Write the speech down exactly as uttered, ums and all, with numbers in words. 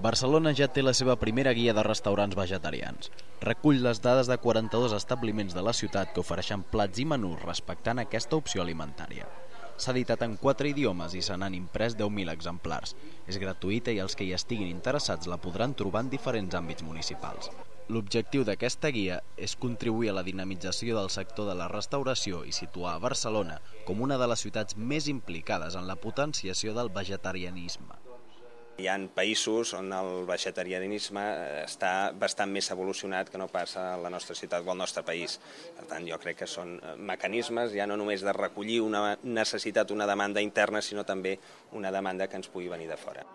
Barcelona ja té la seva primera guia de restaurants vegetarians. Recull les dades de quaranta-dos establiments de la ciutat que ofereixen plats i menús respectant aquesta opció alimentària. S'ha editat en quatre idiomes i se n'han imprès deu mil exemplars. És gratuïta i els que hi estiguin interessats la podran trobar en diferents àmbits municipals. L'objectiu d'aquesta guia és contribuir a la dinamització del sector de la restauració i situar a Barcelona com una de les ciutats més implicades en la potenciació del vegetarianisme. Hi ha països on el vegetarianisme està bastant més evolucionat que no passa a la nostra ciutat o al nostre país. Per tant, jo crec que són mecanismes ja no només de recollir una necessitat, una demanda interna, sinó també una demanda que ens pugui venir de fora.